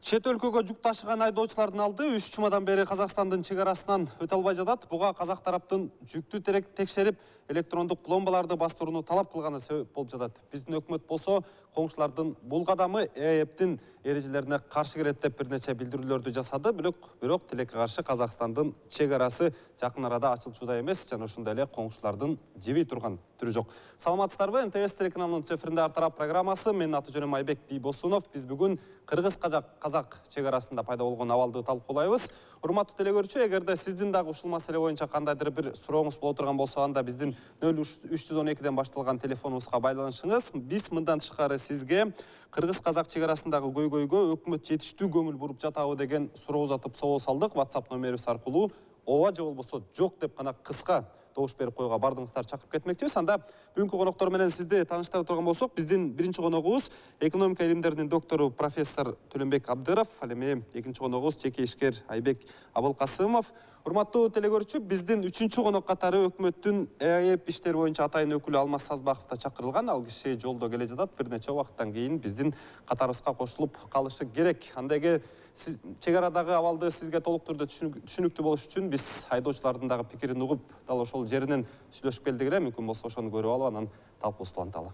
Чет өлкөгө жүк ташыган айдоочулардын алды 3 жумадан бери Казакстандын чек арасынан өтө албай жатат. Буга казак тараптын жүктү текшерип, электрондук пломбаларды бастырууну талап кылганы себеп болуп жатат. Биздин өкмөт болсо коңшулардын бул кадамы ЭЭПтин эрежелерине каршы келет деп бир нече билдирүүлөрдү жасады. Бирок тилекке каршы Казакстандын чек арасы жакын арада ачылчууда эмес жана ошондой эле коңшулардын жебей турган түрү жок. Саламатсыздарбы? НТС телеканалынын эфиринде Ар тарап программасы. Менин аты жөнүм Айбек Бийбосунов. Биз бүгүн Кыргыз-Казак чек арасында пайда болгон абалды талкуулайбыз. Урматтуу телекөрүүчү, эгерде сиздин дагы ушул маселе боюнча кандайдыр бир сурооңуз боло турган болсо, анда биздин 0312ден башталган телефонубузга байланышыңыз. Биз мындан тышкары сизге Кыргыз-Казак чек арасындагы көйгөйгө өкмөт жетиштүү көңүл буруп жатабы деген суроо узатып собол салдык. WhatsApp номерибиз аркылуу ооба же болбосо жок деп гана кыска добуш берип коюуга бардыгыңыздар чакырып кетмекчибиз. Анда бүгүнкү коноктор менен сизди тааныштыра турган болсок, биздин биринчи коногубуз экономика илимдеринин доктору профессор Төлөнбек Абдыров, ал эми экинчи коногубуз жеке ишкер Айбек Абылкасымов. Урматтуу телекөрүүчү, биздин үчүнчү конок катары өкмөттүн ЭЭП иштери боюнча атайын өкүлү Алмаз Сазбаков да чакырылган. Ал киши жолдо келе жатат. Бир нече убакыттан кийин биздин катарыбызга кошулуп калышы керек. Анда чек арадагы абалды сизге толук түрдө түшүнүктүү болуш үчүн биз айдоочулардын дагы пикирин угуп, дал ошол жеринен сүйлөшүп келдик эле. Мүмкүн болсо ошону көрүп алып, анан талкуубузду уланталы.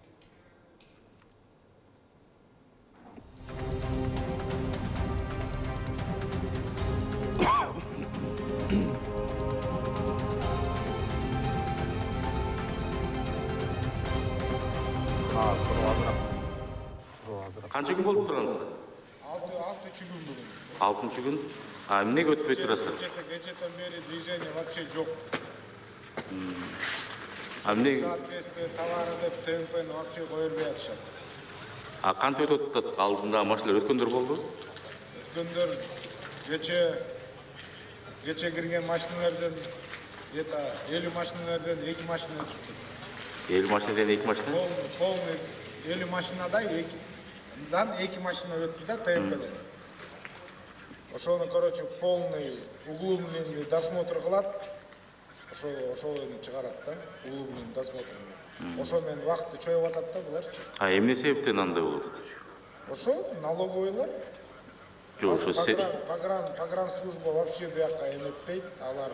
Канча күн болуп тургансыздар? 6 күн бүгүн. 6 күн. Эмнеге өтпөй турасыздар? Кечеден бери движение вообще жок. Эмне? Соответствие товары деп темпени вообще кое бербей атышат. Кантип өтүп атат? Алдында машиналар өткөндөр болду? Өткөндөр кече кирген машиналардан 50 машиналардан 2 машина өтүптү. 50 машинадан 2 машина? Полный 50 машинада 2 машина өттү да темпеден. Ошону, короче, полный углубленный досмотр кылат. Ошону чыгарат да, углубленный досмотр. Ошо менен вакытты чоюп атат да буларчы. Эмне себептен андай болуп атат? Ошо налоговыйлар. Жок, ошо погранслужба вообще буякка эметпейт. Алар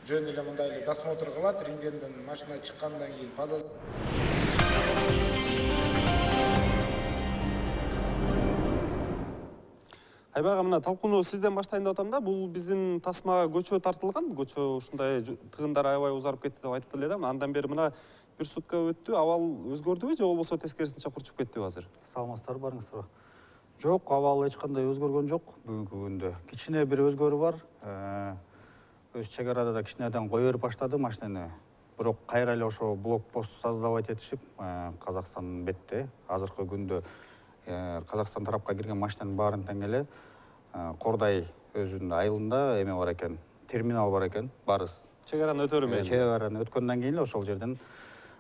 жөн эле мындай эле досмотр кылат, рентгенден машина чыккандан кийин Айбек, мына талкууну сизден баштайын деп атам да. Бул биздин тасмага көчө тартылган. Көчө ушундай тыгындар аябай узарып кетти деп айтты эле да. Андан бери мына бир сутка өттү. Абал өзгөрдүбү же болбосо тескерисинче курчуп кеттиби азыр? Саламатсыздарбы, барыңыздарбы? Жок, абал эч кандай өзгөргөн жок бүгүнкү күндө. Кичине бир өзгөрүү бар. Өз чек арада да кичинеден кое берип баштады машинени. Бирок кайра эле ошо блокпост создавать этишип, Казакстандын бетте азыркы күндө Казакстан тарапка кирген машинанын баарын тең эле Кордай өзүнүн айылында эме бар экен, терминал бар экен, барыс. Чек араны өтөрү менен. Чек араны өткөндөн кийин эле ошол жерден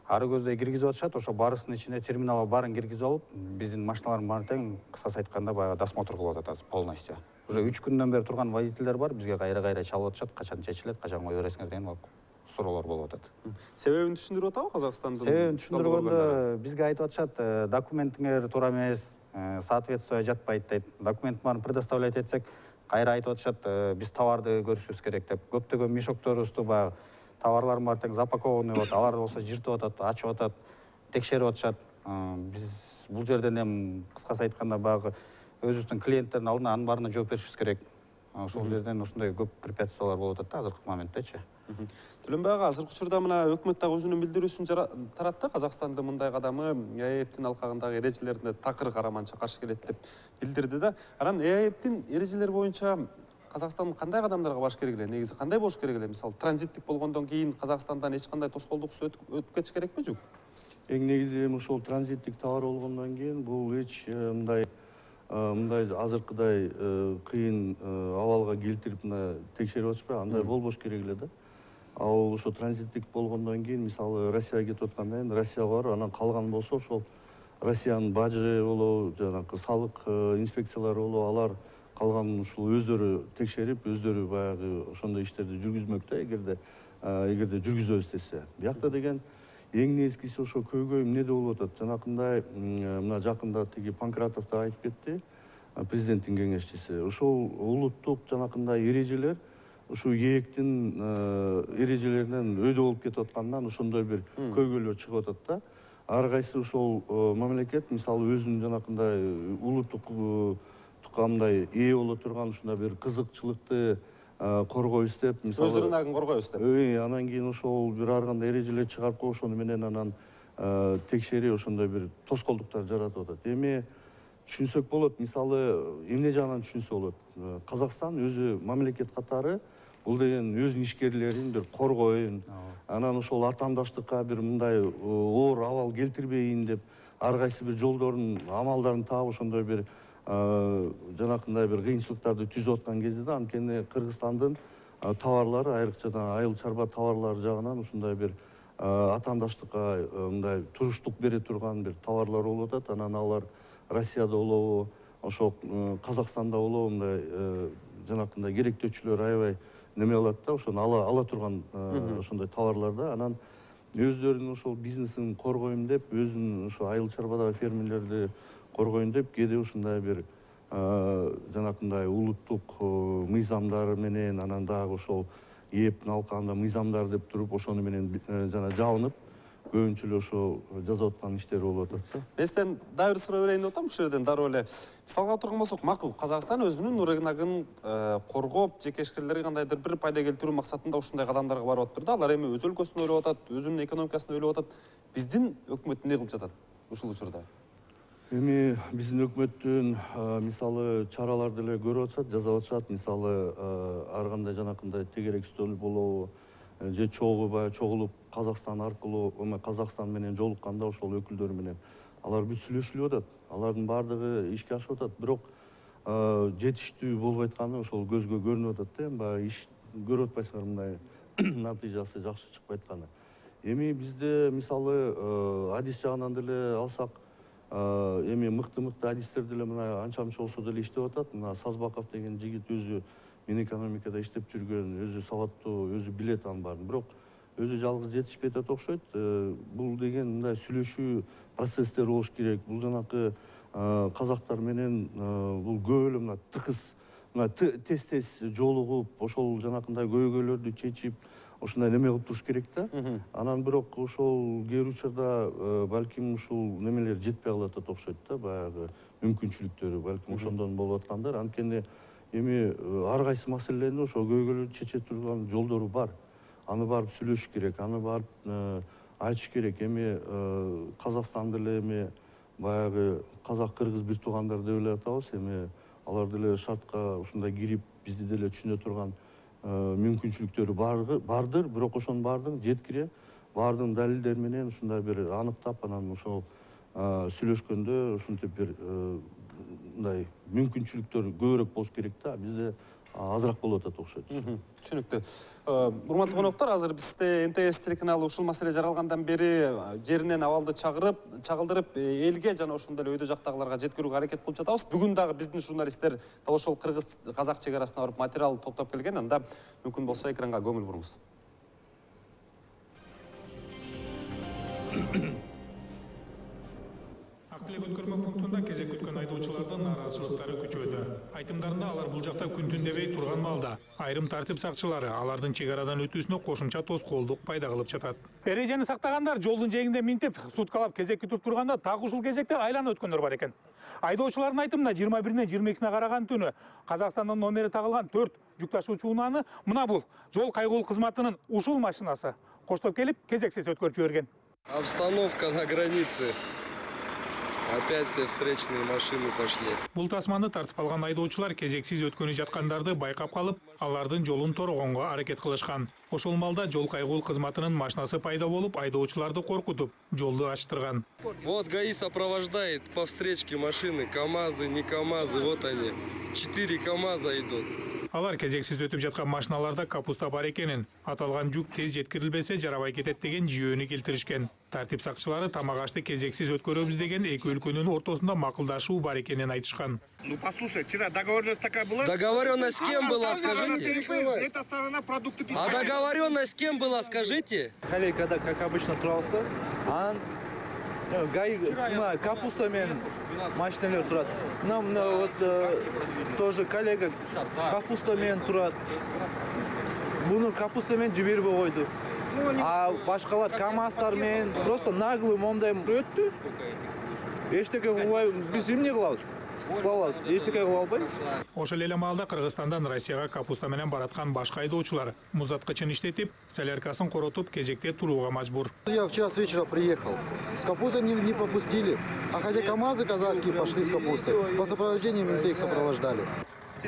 ары көздөй киргизип атышат. Ошо барыстын ичине терминалга баарын киргизип алып, биздин машиналардын баарын тең кыскасы айтканда баягы досмотр кылып атат полностью. Уже 3 күндөн бери турган водительдер бар, бизге кайра чалып атышат, качан чечилет, качан кое бересиңер деген суроолор болуп атат. Себебин түшүндүрүп атабы Казакстандын? Себебин түшүндүргөндө бизге айтып атышат, документиңер туура эмес, соответствие жатпайт дейт. Документ баарын предоставлять этсек, кайра айтып атышат, биз товарды көрүшүбүз керек деп. Көптөгөн мешокторубузду баягы товарлардын баары тең запакованный болот, алар болсо жыртып атат, ачып атат, текшерип атышат. Биз бул жерден эми кыскасы айтканда баягы өзүбүздүн клиенттердин алдына анын баарына жооп беришибиз керек. Ошол жерден ушундай көп препятствиялар болуп атат да азыркы моменттечи. Төлөнбек, азыркы учурда мына өкмөт дагы өзүнүн билдирүүсүн таратты. Казакстандын мындай кадамы ЭЭПтин алкагындагы эрежелерине такыр караманча каршы келет деп билдирди да. Анан ЭЭПтин эрежелери боюнча Казакстан кандай кадамдарга баш керек эле? Негизи кандай болуш керек эле? Мисалы, транзиттик болгондон кийин Казакстандан эч кандай тоскоолдуксуз өтүп кетиш керекпи, жок? Эң негизи эми ушул транзиттик товар болгондон кийин бул эч мындай азыркыдай кыйын абалга келтирип текшерип атышпайбы, андай болбош керек эле да. Ал ошо транзиттик болгондон кийин, мисалы, Россияга кетип аткандан кийин Россияга барып, анан калган болсо ошол Россиянын бажы болобу, жанагы салык инспекциялары болобу, алар калган ушул өздөрү текшерип, өздөрү баягы ошондой иштерди жүргүзмөк да, эгерде жүргүзөбүз десе. Биякта деген эң негизгиси ошо көйгөй эмнеде болуп атат? Жанакындай мына жакында тиги Панкратов да айтып кетти. президенттин кеңешчиси. Ушул улуттук жанакындай эрежелер ушу ээктин эрежелеринен өйдө болуп кетип аткандан ошондой бир көйгөйлөр чыгып атат да. Ар кайсы ошол мамлекет мисалы өзүнүн жанакындай улуттук мындай ээ боло турган ушундай бир кызыкчылыкты коргойбуз деп, мисалы Өз рыногун коргойбуз деп. Анан кийин ошол бир ар кандай эрежелер чыгарып коюп, ошону менен анан текшерип ошондой бир тоскоолдуктар жаратып атат. Эми түшүнсөк болот, мисалы эмне жагынан түшүнсө болот. Казакстан өзү мамлекет катары бул деген өзүнүн ишкерлерин бир коргоюн, анан ошол атаандаштыкка бир мындай оор абал келтирбейин деп ар кайсы бир жолдорун, амалдарын таап ошондой бир жанакындай бир кыйынчылыктарды түзүп аткан кезде да, анткени Кыргызстандын товарлары, айрыкча айыл чарба товарлары жагынан ушундай бир атаандаштыкка мындай туруштук бере турган бир товарлар болуп атат. Анан алар Россияда болобу, ошол Казакстанда болобу мындай жанакындай керектөөчүлөр аябай неме кылат да, ошону ала турган ошондой товарларда. Анан өздөрүнүн ошол бизнесин коргойм деп, өзүнүн ошо айыл чарбадагы фермерлерди коргойм деп, кээде ушундай бир жанакындай улуттук мыйзамдар менен, анан дагы ошол ээптин алкагында мыйзамдар деп туруп, ошону менен жана жабынып, көбүнчө эле ошо жасап аткан иштер болуп атат да. Мен сизден дагы бир суроо берейин деп атам, ушул жерден дароо эле мисалга алып турган болсок, макул, Казакстан өзүнүн рыногун коргоп, жеке ишкерлерге кандайдыр бир пайда келтирүү максатында ушундай кадамдарга барып атыптыр да. Алар эми өз өлкөсүн ойлоп атат, өзүнүн экономикасын ойлоп атат. Биздин өкмөт эмне кылып жатат ушул учурда? Эми биздин өкмөттүн мисалы чараларды эле көрүп атышат, жасап атышат. Мисалы ар кандай жанакындай тегерек стөл болобу, же чогулуп Казакстан аркылуу, Казакстан менен жолукканда ошол өкүлдөр менен алар бүт сүйлөшүлүп атат. Алардын баардыгы ишке ашып атат. Бирок жетиштүү болбой атканы ошол көзгө көрүнүп атат да. Баягы иш көрүп атпайсыңар, мындай натыйжасы жакшы чыкпай атканы. Эми бизде мисалы адис жагынан деле алсак, эми мыкты адистер деле мына анча мынча болсо деле иштеп атат. Мына Сазбаков деген жигит өзү Минэкономикада иштеп жүргөн, өзү сабаттуу, өзү билет анын баарын. Бирок өзү жалгыз жетишпей атат окшойт. Бул деген мындай сүйлөшүү процесстер болуш керек. Бул жанакы казактар менен бул көп эле мына тыкыз, мына тез жолугуп, ошол жанакындай көйгөйлөрдү чечип, ошондой неме кылып туруш керек да. Анан бирок ошол кээ бир учурда балким ушул немелер жетпей калып атат окшойт да, баягы мүмкүнчүлүктөрү балким ошондон болуп аткандар. Анткени эми ар кайсы маселени ошо көйгөйлөрдү чече турган жолдору бар. Аны барып сүйлөшүш керек, аны барып айтыш керек. Эми Казакстан деле эми баягы казак-кыргыз бир туугандар деп эле атабыз. Эми алар деле шартка ушундай кирип, бизди деле түшүнө турган мүмкүнчүлүктөрү бардыр. Бирок ошонун баардыгын жеткире, баардыгын далилдер менен ушундай бир аныктап, анан ошол сүйлөшкөндө ушинтип бир мындай мүмкүнчүлүктөр көбүрөөк болуш керек да. Бизде азыраак болуп атат окшойт. Түшүнүктүү. Урматтуу коноктор, азыр бизде НТС телеканалы ушул маселе жаралгандан бери жеринен абалды чагылдырып, элге жана ошондой эле өйдө жактагыларга жеткирүүгө аракет кылып жатабыз. Бүгүн дагы биздин журналисттер дал ошол кыргыз-казак чек арасына барып материал топтоп келген. Анда мүмкүн болсо экранга көңүл буруңуз. Актылык өткөрмө пунктунда кезек күткөн айдоочулардын нааразычылыктары күчөдү. Айтымдарында алар бул жакта күн түн дебей турган маалда айрым тартип сакчылары алардын чек арадан өтүүсүнө кошумча тоскоолдук пайда кылып жатат. Эрежени сактагандар жолдун жээгинде минтип, суткалап кезек күтүп турганда так ушул кезекте айланып өткөндөр бар экен. Айдоочулардын айтымында 21-ден 22-сине караган түнү Казакстандын номери тагылган 4 жүк ташуучу унааны мына бул жол кайгуул кызматынын ушул машинасы коштоп келип кезексиз өткөрүп жиберген. Обстановка на границе. Опять все встречные машины пошли. Бул тасманы тартып алган айдоочулар кезексиз өткөнү жаткандарды байкап калып, алардын жолун торогонго аракет кылышкан. Ошол маалда жол кайгуул кызматынын машинасы пайда болуп, айдоочуларды коркутуп, жолду ачтырган. Вот ГАИ сопровождает по встречке машины, КАМАЗы, не КАМАЗы, вот они. 4 КАМАЗа идут. Алар кезексиз өтүп жаткан машиналарда капуста бар экенин, аталган жүк тез жеткирилбесе жарабай кетет деген жүйөнү келтиришкен. Тартип сакчылары тамак ашты кезексиз өткөрөбүз деген эки өлкөнүн ортосунда макулдашуу бар экенин айтышкан. Ну послушай, вчера договоренность такая была? Договоренность с кем была, скажите? Эта сторона продукты питания. А договоренность с кем была, скажите? Коллега, как обычно, трауста, Капуста менен машиналар турат. Мына вот тоже коллега капуста менен турат. Буну капуста менен жибербей койду. А башкалар КамАЗдар менен просто наглый момундай өттү. Эчтеке кылбайбыз. Биз эмне кылабыз? Кылабыз. Эчтеке кыла албайбыз. Ошол эле маалда Кыргызстандан Россияга капуста менен бараткан башка айдоочулар муздаткычын иштетип, соляркасын коротуп, кезекте турууга мажбур. Я вчера с вечера приехал. С капустой не пропустили. А хотя КамАЗы казахские пошли с капустой. Под сопровождением менты их сопровождали.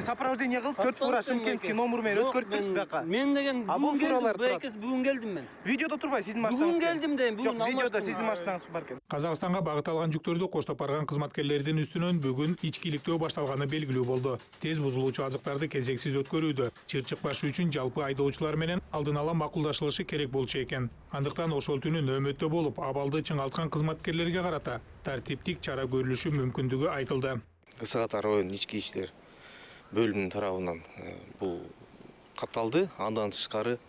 Сопровождение кылып 4 фура Шымкентский номер менен өткөрүппүз бияка. Мен деген бүгүн келдим, бүгүн келдим мен. Видеодо турбай сиздин машинаңыз. Бүгүн келдим дейм, бүгүн алмаштым. Видеодо сиздин машинаңыз бар экен. Казакстанга багыт алган жүктөрдү коштоп барган кызматкерлердин үстүнөн бүгүн ичкиликтөө башталганы белгилүү болду. Тез бузулуучу азыктарды кезексиз өткөрүүдө чыр чыкпаш үчүн жалпы айдоочулар менен алдын ала макулдашылышы керек болчу экен. Андыктан ошол түнү нөөмөттө болуп, абалды чыңалткан кызматкерлерге карата тартиптик чара көрүлүшү мүмкүндүгү айтылды. СК район ички иштер бөлүмүнүн тарабынан бул катталды. Андан тышкары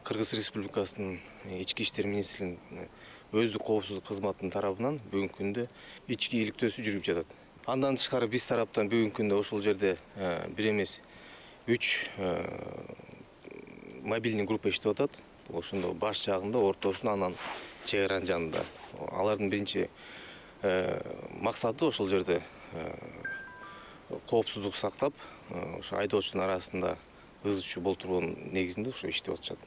Кыргыз Республикасынын ички иштер министрлигинин өздүк коопсуздук кызматынын тарабынан бүгүнкү күндө ички иликтөөсү жүрүп жатат. Андан тышкары биз тараптан бүгүнкү күндө ошол жерде бир эмес 3 мобильный группа иштеп атат. Ошондо баш жагында, ортосунда, анан чек аранын жанында. Алардын биринчи максаты ошол жерде коопсуздук сактап, ошо айдоочунун арасында ыз чуу болтургон негизинде ошо иштеп атышат.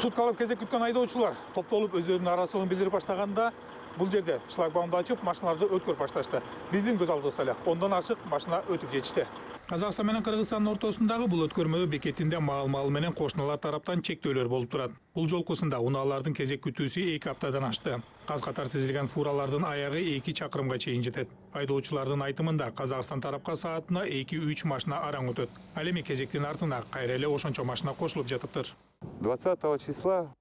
Суткалап кезек күткөн айдоочулар топтолуп өздөрүнүн арасылыгын билдирип баштаганда бул жерде шлагбаумду ачып машиналарды өткөрүп башташты. Биздин көз алдыбызда эле 10дон ашык машина өтүп жетишти. Казакстан менен Кыргызстандын ортосундагы бул өткөрмө бекетинде маал менен кошуналар тараптан чектөөлөр болуп турат. Бул жолкусунда унаалардын кезек күтүүсү 2 аптадан ашты. Каз-катар тизилген фуралардын аягы 2 чакырымга чейин жетет. Айдоочулардын айтымында Казакстан тарапка саатына 2-3 машина араң өтөт. Ал эми кезектин артына кайра эле ошончо машина кошулуп жатыптыр. 20 числа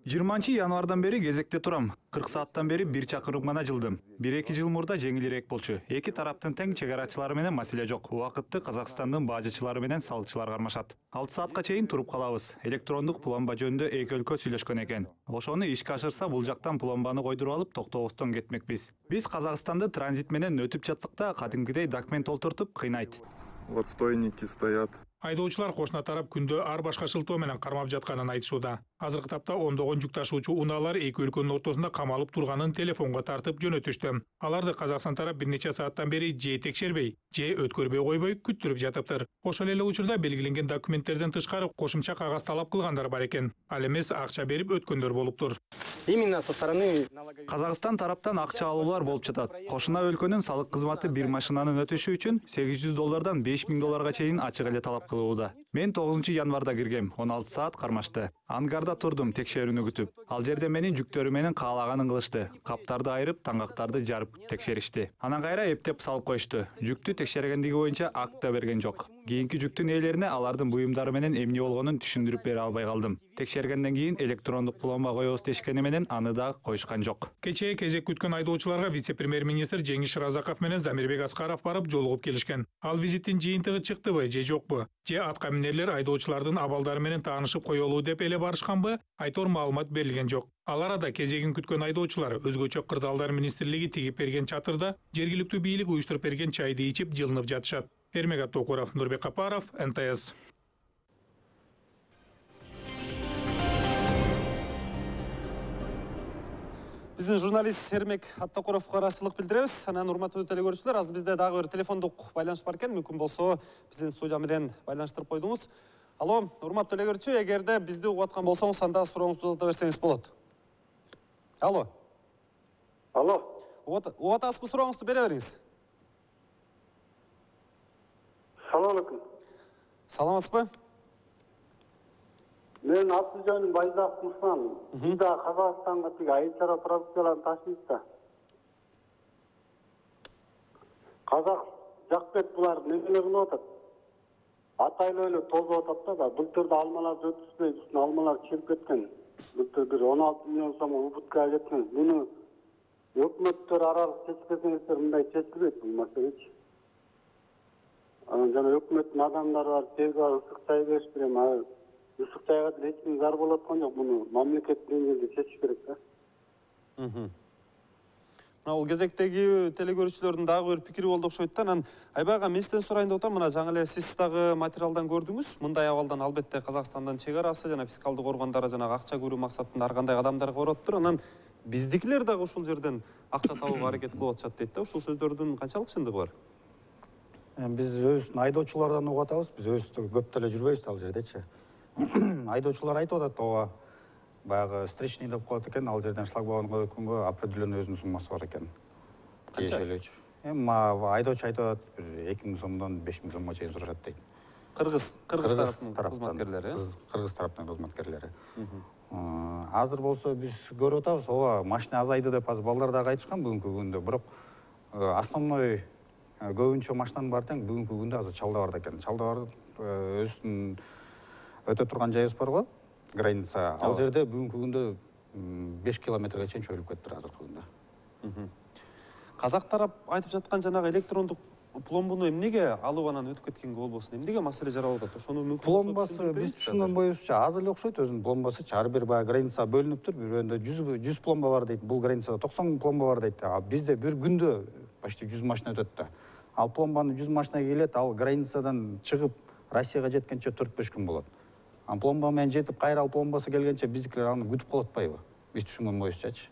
20 январдан бери кезекте турам. 40 сааттан бери 1 чакырым гана жылдым. 1-2 жыл мурда жеңилирээк болчу. Эки тараптын тең чек арачылары менен маселе жок. Убакытты Казакстандын бажычылары менен салчылар кармашат. 6 саатка чейин туруп калабыз. Электрондук пломба жөнүндө эки өлкө сүйлөшкөн экен. Ошону ишке ашырса, бул жактан пломбаны койдуруп алып токтобостон кетмекпиз. Биз Казакстанды транзит менен өтүп жатсак да, кадимкидей документ толтуртуп кыйнайт. Вот стойники стоят. Айдоочулар кошуна тарап күндө ар башка шылтоо менен кармап жатканын айтышууда. Азыркы тапта ондогон жүк ташуучу унаалар эки өлкөнүн ортосунда камалып турганын телефонго тартып жөнөтүштү. Аларды Казакстан тарап бир нече сааттан бери же текшербей, же өткөрбөй койбой күттүрүп жатыптыр. Ошол эле учурда белгиленген документтерден тышкары кошумча кагаз талап кылгандар бар экен. Ал эмес акча берип өткөндөр болуптур. Именно со стороны Казакстан тараптан акча алуулар болуп жатат. Кошуна өлкөнүн салык кызматы бир машинанын өтүшү үчүн $800 $5000 чейин ачык эле талап кылууда. Мен 9 январда киргем, 16 саат кармашты. Ангарда турдум текшерүүнү күтүп. Ал жерде менин жүктөрү менен каалаганын кылышты. Каптарды айырып, таңгактарды жарып текшеришти. Анан кайра эптеп салып коюшту. Жүктү текшергендиги боюнча акт да берген жок. Кийинки жүктүн ээлерине алардын буюмдары менен эмне болгонун түшүндүрүп бере албай калдым. Текшергенден кийин электрондук пломба коебуз дешкени менен аны да коюшкан жок. Кечээ кезек күткөн айдоочуларга вице-премьер-министр Жеңиш Разаков менен Замирбек Аскаров барып жолугуп келишкен. Ал визиттин жыйынтыгы чыктыбы же жокпу? Же атка минерлер айдоочулардын абалдары менен таанышып коелуу деп эле барышканбы? Айтор маалымат берилген жок. Ал арада кезегин күткөн айдоочулар өзгөчө кырдаалдар министрлиги тигип берген чатырда жергиликтүү бийлик уюштуруп берген чайды ичип жылынып жатышат. Эрмек Аттокуров, Нурбек Капаров, НТС. Биздин журналист Эрмек Аттокуровго ыраазычылык билдиребиз. Анан урматтуу телекөрүүчүлөр, азыр бизде дагы бир телефондук байланыш бар экен. Мүмкүн болсо биздин студия менен байланыштырып койдуңуз. Алло, урматтуу телекөрүүчү, эгерде бизди угуп аткан болсоңуз, анда сурооңузду узата берсеңиз болот. Алло. Алло. Угуп атасызбы, сурооңузду бере бериңиз. Салам алейкум. Саламатсызбы? Мен аты жөнүм Байзак Муслан. Биз да Казакстанга тиги айыл чара продукцияларын ташыйбыз да. Казак жак бет булар немелер кылып атат? Атайлуу эле тозуп атат да, былтырда алмаларды өткүзбөй, үстүнө алмалар чирип кеткен. Былтыр бир 16 миллион сом убуткага кеткен. Буну өкмөттөр аралык чечпесеңиздер мындай чечилбейт бул маселечи. Жана өкмөттүн адамдары бар, тез бар, ысык чай берип берем. Ысык чайга эч ким зар болуп аткан жок. Буну мамлекет деңгээлде чечиш керек да. Мына бул кезектеги телекөрүүчүлөрдүн дагы бир пикири болду окшойт да. Анан Айбай ага мен сизден сурайын деп атам. Мына жаңы эле сиз дагы материалдан көрдүңүз. Мындай абалдан албетте Казакстандын чек арасы жана фискалдык органдары жана акча көрүү максатында ар кандай кадамдар көрүп атыптыр. Анан биздикилер дагы ушул жерден акча табууга аракет кылып атышат дейт да. Ушул сөздөрдүн канчалык чындыгы бар? Биз өзүбүздүн айдоочулардан угуп атабыз. Биз өзүбүз көп деле жүрбөйбүз ал жердечи. Айдоочулар айтып атат, ооба баягы встречный деп коет экен, ал жерден шлагбаумга өткөнгө определенный өзүнүн суммасы бар экен. Тиешелүүчү. Эми айдоочу айтып атат, бир 2000 сомдон 5000 сомго чейин сурашат дейт. Кыргыз тараптын кызматкерлери. Кыргыз тараптын кызматкерлери. Азыр болсо биз көрүп атабыз, ооба машина азайды деп азыр балдар дагы айтышкан бүгүнкү күндө. Бирок основной көбүнчө машинанын баары тең бүгүнкү күндө азыр Чалдабарда экен. Чалдабар өзүнүн өтө турган жайыбыз бар го, граница. Ал жерде бүгүнкү күндө 5 километрге чейин чөйүлүп кетиптир азыркы күндө. Казак тарап айтып жаткан жанагы электрондук пломбуну эмнеге алып анан өтүп кеткенге болбосун? Эмнеге маселе жаралып атат? Ошону мүмкүн пломбасы биз түшүнгөн боюбузча аз эле окшойт өзүнүн пломбасычы. Ар бир баягы граница бөлүнүптүр. Бирөөндө 100 пломба бар дейт. Бул границада 90 пломба бар дейт. А бизде бир күндө почти 100 машина өтөт да. Ал пломбанын 100 машина келет, ал границадан чыгып Россияга жеткенче 4-5 күн болот. А пломба менен жетип кайра ал пломбасы келгенче биздикилер аны күтүп калып атпайбы? Биз түшүнгөн боюбузчачы.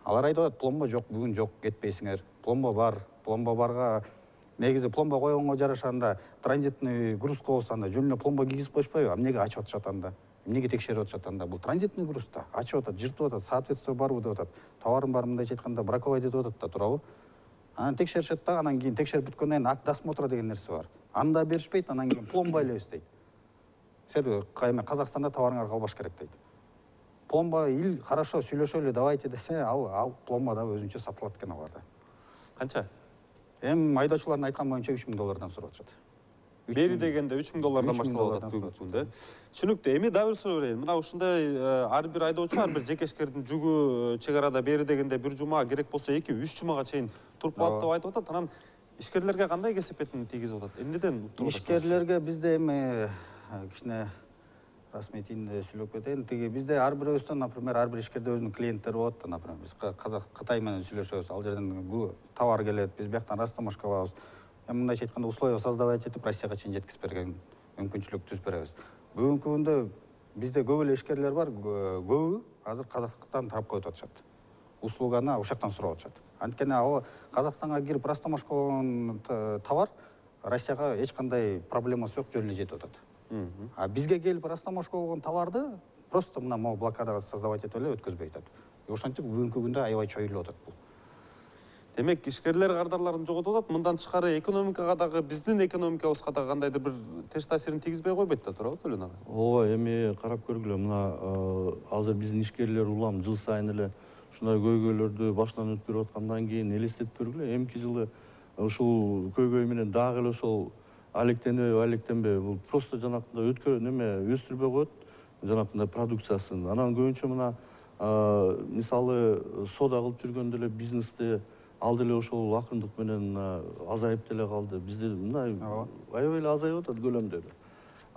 Алар айтып атат, пломба жок, бүгүн жок, кетпейсиңер. Пломба бар. Пломба барга негизи пломба койгонго жараша анда транзитный груз болсо анда жөн эле пломба кийгизип коюшпайбы? Эмнеге ачып атышат анда? Эмнеге текшерип атышат анда? Бул транзитный груз да. Ачып атат, жыртып атат, соответствие барбы деп атат. Товарым бар, мындайча айтканда браковать этип атат да, туурабы? Анан текшеришет да, анан кийин текшерип бүткөндөн кийин акт досмотра деген нерсе бар. Анда беришпейт, анан кийин пломба элебиз дейт. Сен Казакстанда товарыңарды албаш керек дейт. Пломба хорошо сүйлөшөлү давайте десе, ал пломба да өзүнчө сатылат экен аларда. Канча? Эми айдоочулардын айткан боюнча $3000 сурап атышат. Бери дегенде $3000 башталып атат бүгүнкү күндө. Түшүнүктүү. Эми дагы бир суроо берейин. Мына ушундай ар бир айдоочу, ар бир жекешкердин жүгү чек арада бери дегенде бир жума, керек болсо 2-3 жумага чейин туруп калат деп айтып атат. Анан ишкерлерге кандай кесепетин тийгизип атат? Эмнеден туруп атат? Ишкерлерге бизде эми кичине расметинде сүйлөп кетейин. Тиги бизде ар бирөөбүздөн, например, ар бир ишкерде өзүнүн клиенттери болот да, например, биз Кытай менен сүйлөшөбүз. Ал жерден товар келет, биз бияктан растамашка алабыз. Эми мындайча айтканда условия создавать этип Россияга чейин жеткизип берген мүмкүнчүлүк түзүп беребиз. Бүгүнкү күндө бизде көп эле ишкерлер бар, көбү азыр Казакстан тарапка өтүп атышат. Услуганы ушактан сурап атышат. Анткени ал Казакстанга кирип растамашка болгон товар Россияга эч кандай проблемасы жок, жөн эле жетип атат. А бизге келип растамашка болгон товарды просто мына могу блокадага создавать этип эле өткөзбөй атат. Ошентип бүгүнкү күндө аябай чоюлуп атат бул. Демек, ишкерлер кардарларын жоготуп атат. Мындан тышкары экономикага дагы, биздин экономикабызга дагы кандайдыр бир терс таасирин тийгизбей койбойт да, туурабы Төлөн ага? Ооба, эми карап көргүлө, мына азыр биздин ишкерлер улам жыл сайын эле ушундай көйгөйлөрдү башынан өткөрүп аткандан кийин элестетип көргүлө, эмки жылы ушул көйгөй менен дагы эле ошол алектенбейби, бул просто жанакындай өстүрбөй коет жанакындай продукциясын. Анан көбүнчө мына мисалы сода кылып жүргөн деле бизнесте ал деле ошол акырындык менен азайып деле калды. Бизде мындай аябай эле азайып атат көлөмдөрү.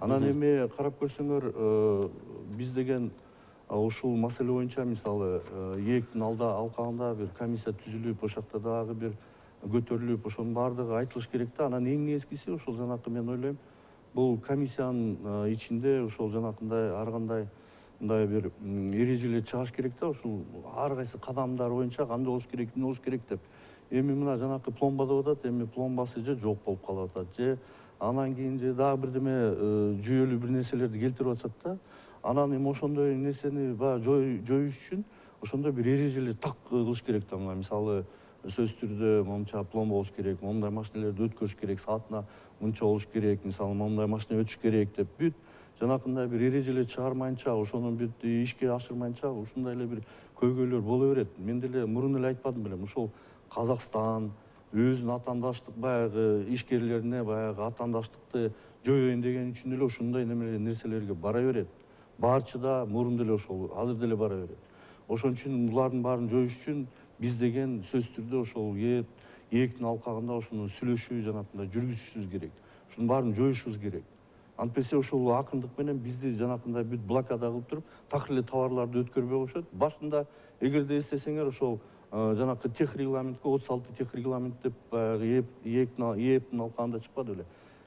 Анан эми карап көрсөңөр, биз деген ушул маселе боюнча мисалы ээктин алкагында бир комиссия түзүлүп, ошакта дагы бир көтөрүлүп, ошонун баардыгы айтылыш керек да. Анан эң негизгиси ошол жанакы мен ойлойм, бул комиссиянын ичинде ошол жанакындай ар кандай мындай бир эрежелер чыгыш керек да, ушул ар кайсы кадамдар боюнча кандай болуш керек, эмне болуш керек деп. Эми мына жанакы пломба деп атат, эми пломбасы же жок болуп калып атат, же анан кийин же дагы бирдеме жүйөлүү бир нерселерди келтирип атышат да. Анан эми ошондой нерсени баягы жоюш үчүн ошондой бир эрежелер так кылыш керек да. Мисалы сөзсүз түрдө момунча пломба болуш керек, момундай машиналерди өткөрүш керек, саатына мынча болуш керек, мисалы момундай машина өтүш керек деп бүт жанакындай бир эрежелер чыгармайынча, ошону бүт ишке ашырмайынча ушундай эле бир көйгөйлөр боло берет. Мен деле мурун эле айтпадым белем, ушул Казакстан өзүнүн атаандаштык баягы ишкерлерине баягы атаандаштыкты жоюйн деген үчүн эле ушундай нерселерге бара берет. Барчы да мурун деле ошол, азыр деле бара берет. Ошон үчүн булардын баарын жоюш үчүн биз деген сөзсүз түрдө ошол ээктин алкагында ошону сүйлөшүү жанакындай жүргүзүшүбүз керек. Ушунун баарын жоюшубуз керек. Антпесе ошол акырындык менен бизди жанакындай бүт блокада кылып туруп, такыр эле товарларды өткөрбөй коюшат. Башында эгерде эстесеңер ошол жанакы тех регламентке 36 тех регламент деп баягы ээптин алкагында чыкпады беле.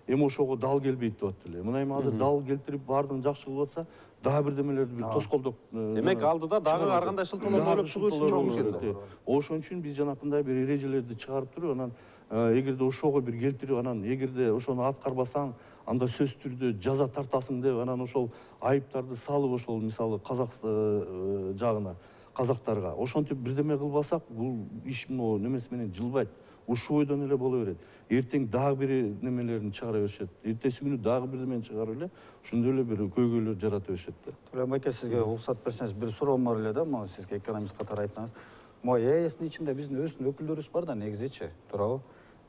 Эми ошого дал келбейт деп атты эле. Мына эми азыр дал келтирип баардыгын жакшы кылып атса, дагы бирдемелерди бир тоскоолдоп. Демек алдыда дагы ар кандай шылтоолорду ойлоп чыгышы мүмкүн. Ошон үчүн биз жанакындай бир эрежелерди чыгарып туруп, анан эгерде ошого бир келтирип, анан эгерде ошону аткарбасаң, анда сөзсүз түрдө жаза тартасың деп, анан ошол айыптарды салып, ошол мисалы казак жагына, казактарга ошентип бирдеме кылбасак, бул иш могу немеси менен жылбайт. Ушул бойдон эле боло берет. Эртең дагы бир немелерин чыгара беришет. Эртеси күнү дагы бирдемени чыгарып эле, ошондой эле бир көйгөйлөр жарата беришет да. Төлөм айке, сизге уруксат берсеңиз, бир суроом бар эле да, могу сизге экономист катары айтсаңыз. Могу ЭСтин ичинде биздин өзүбүздүн өкүлдөрүбүз бар да, негизичи, туурабы?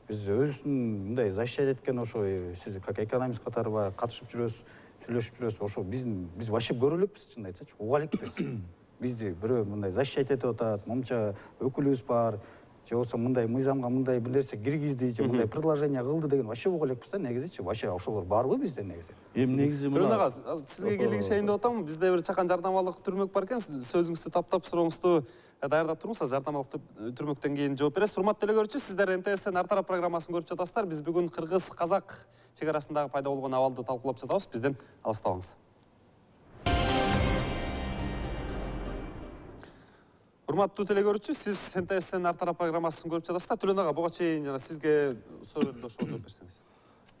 Биз өзүбүздүн мындай защищать эткен ошо сиз как экономист катары баягы катышып жүрөсүз, сүйлөшүп жүрөсүз, ошо биз вообще көрө элекпиз, чынын айтсачы, уга элекпиз. Бизди бирөө мындай защищать этип атат, момча өкүлүбүз бар, же болбосо мындай мыйзамга мындай бир нерсе киргизди, же мындай предложение кылды деген вообще уга элекпиз да, негизичи. Вообще ошолор барбы бизде негизи? Эми негизи мына сизге келишейин деп атам. Бизде бир чакан жардамалык түрмөк бар экен. Сөзүңүздү таптап сурооңузду даярдап туруңуз, жардамалык түрмөктөн кийин жооп бересиз. Урматтуу телекөрүүчү, сиздер НТСтен ар тарап программасын көрүп жатасыздар. Биз бүгүн кыргыз-казак чек арасындагы пайда болгон абалды талкуулап жатабыз. Бизден алыстабаңыз. Урматтуу телекөрүүчү, сиз НТСтен ар тарап программасын көрүп жатасыздар. Төлөн ага, буга чейин жана сизге суроолорду ошол жооп берсеңиз.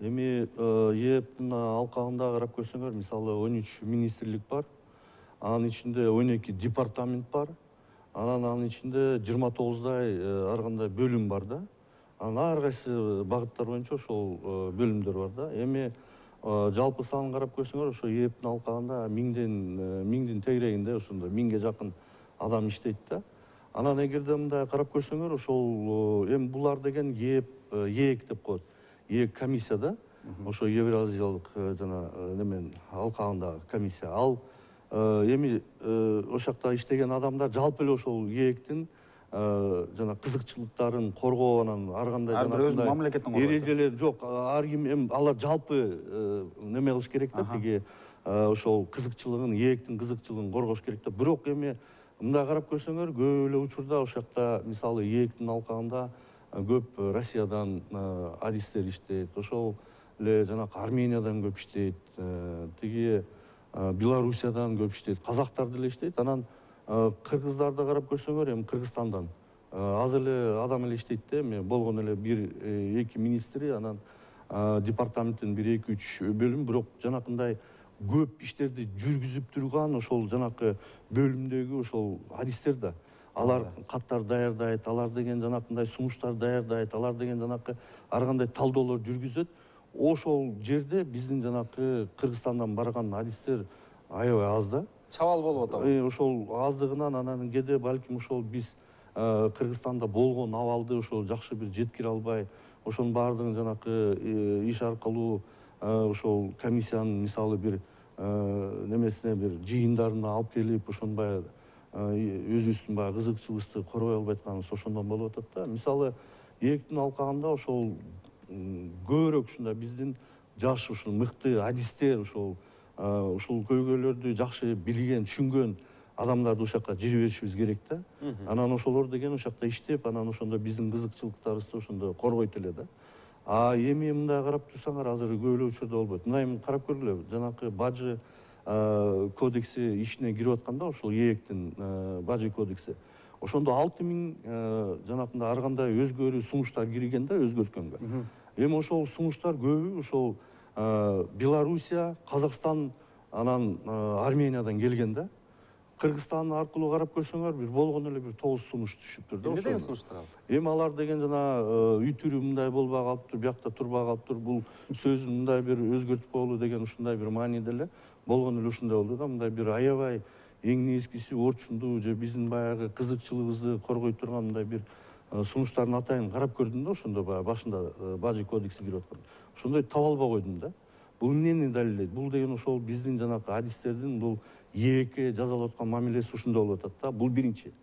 Эми ээптин алкагында карап көрсөңөр, мисалы 13 министрлик бар. Анын ичинде 12 департамент бар. Анын ичинде 29дай ар кандай бөлүм бар да. Анан ар кайсы багыттар боюнча ошол бөлүмдөр бар да. Эми жалпы санын карап көрсөңөр, ошо ээптин алкагында миңдин тегерегинде ошондой 1000ге жакын адам иштейт да. Анан эгерде мындай карап көрсөңөр, ошол эми булар деген ээк деп коет. ээк комиссия да. Ошо Евразиялык жана немен алкагындагы комиссия. Ал эми ошол жакта иштеген адамдар жалпы эле ошол ээктин жана кызыкчылыктарын коргоо, анан ар кандай жана эрежелер жок, ар ким эми алар жалпы неме кылыш керек да, тиги ошол кызыкчылыгын, ээктин кызыкчылыгын коргош керек да. Бирок эми мындай карап көрсөңөр, көп эле учурда ошол жакта мисалы ээктин алкагында көп Россиядан адистер иштейт, ошол эле жанакы Армениядан көп иштейт, тиги Белоруссиядан көп иштейт, казактар деле иштейт. Анан кыргыздарды карап көрсөңөр, эми Кыргызстандан аз эле адам эле иштейт да, эми болгон эле 1-2 министри, анан департаменттин 1-2-3 бөлүм, бирок жанакындай көп иштерди жүргүзүп турган ошол жанакы бөлүмдөгү ошол адистер да. Алар каттар даярдайт, алар деген жанакындай сунуштар даярдайт, алар деген жанакы ар кандай талдоолор жүргүзөт. Ошол жерде биздин жанакы Кыргызстандан барган адистер аябай аз да. Чабал болуп атабы. Ошол аздыгынан анан кээде балким ошол биз Кыргызстанда болгон абалды ошол жакшы бир жеткире албай, ошонун баардыгын жанакы иш аркылуу ошол комиссиянын мисалы бир немесине бир жыйындарына алып келип, ошону баягы өзүбүздүн баягы кызыкчылыгыбызды коргой албай атканыбыз ошондон болуп атат да. Мисалы ээктин алкагында ошол көбүрөөк ушундай биздин жаш ушул мыкты адистер, ушул көйгөйлөрдү жакшы билген, түшүнгөн адамдарды ошол жака жиберишибиз керек да. Анан ошолор деген ошол жакта иштеп, анан ошондо биздин кызыкчылыктарыбызды ошондо коргойт эле да. Эми мындай карап турсаңар, азыр көп эле учурда болбойт. Мына эми карап көргүлө, жанакы бажы кодекси ишине кирип атканда, ошол ээктин бажы кодекси. Ошондо 6000 жанакындай ар кандай өзгөрүү сунуштар кирген да, өзгөрткөнгө. Эми ошол сунуштар көбү ошол Белоруссия, Казакстан, анан Армениядан келген да. Кыргызстан аркылуу карап көрсөңөр, бир болгон эле бир 9 сунуш түшүптүр да. Эмне деген сунуштар ал? Эми алар деген жана үй түрү мындай болбой калыптыр, биякта турбай калыптыр, бул сөзүн мындай бир өзгөртүп коелу деген ушундай бир мааниде эле болгон эле ушундай болду да. Мындай бир аябай эң нескиси орчундуу же биздин баягы кызыкчылыгыбызды коргой турган мындай бир сунуштардын атайын карап көрдүм да, ошондо баягы башында бажы кодекси кирип аткан. Ошондой таба албай койдум да. Бул эмнени далилдейт? Бул деген ошол биздин жанакы адистердин бул ээкке жазалап аткан мамилеси ушундай болуп атат да. Бул биринчи.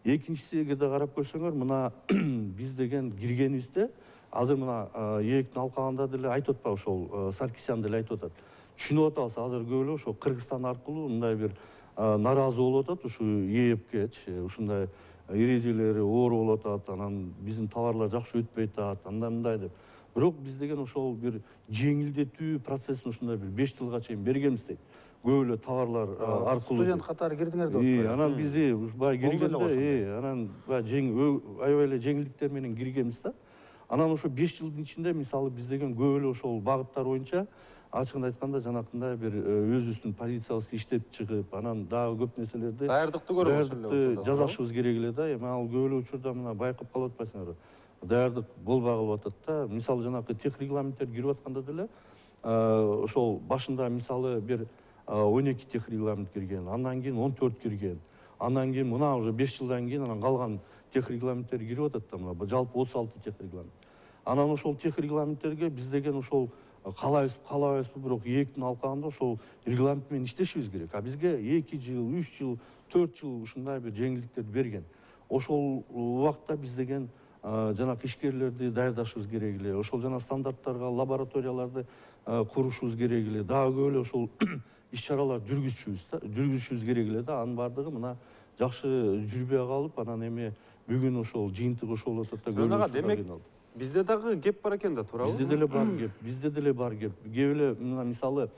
Экинчиси, эгерде карап көрсөңөр, мына биз деген киргенибизде азыр мына ээктин алкагында деле айтып атпайбы, ошол Саркисян деле айтып атат. Түшүнүп атабыз, азыр көп эле ошол Кыргызстан аркылуу мындай бир наразы болуп атат ушу ээккечи, ушундай эрежелери оор болуп атат, анан биздин товарлар жакшы өтпөй атат, андай мындай деп. Бирок биз деген ошол бир жеңилдетүү процессин ушундай бир 5 жылга чейин бергенбиз дейт. Көп эле товарлар аркылуу. Студент катары кирдиңер деп. Анан биз баягы киргенде, анан аябай эле жеңилдиктер менен киргенбиз да. Анан ошо 5 жылдын ичинде мисалы биз деген көп эле ошол багыттар боюнча ачыгын айтканда жанакындай бир өзүбүздүн позициябызды иштеп чыгып, анан дагы көп нерселерди даярдыкты көрүп жасашыбыз керек эле да. Эми ал көп эле учурда мына байкап калып атпайсыңарбы? Даярдык болбой калып атат да. Мисалы жанакы тех регламенттер кирип атканда деле ошол башында мисалы бир 12 тех регламент кирген, андан кийин 14 кирген. Андан кийин мына уже 5 жылдан кийин анан калган тех регламенттер кирип атат да, мына жалпы 36 тех регламент. Анан ошол тех регламенттерге биз деген ошол каалабайбызбы, бирок ээктин алкагында ошол регламент менен иштешибиз керек. А бизге 2 жыл, 3 жыл, 4 жыл ушундай бир жеңилдиктерди берген. Ошол убакта биз деген жанакы ишкерлерди даярдашыбыз керек эле. Ошол жана стандарттарга лабораторияларды курушубуз керек эле. Дагы көп эле ошол иш-чаралар жүргүзүшүбүз керек эле да. Анын баардыгы мына жакшы жүрбөй калып, анан эми бүгүн ошол жыйынтык ошол болуп атат да. Демек бизде дагы кеп бар экен да, туурабы? Бизде деле бар кеп. Кеп эле мисалы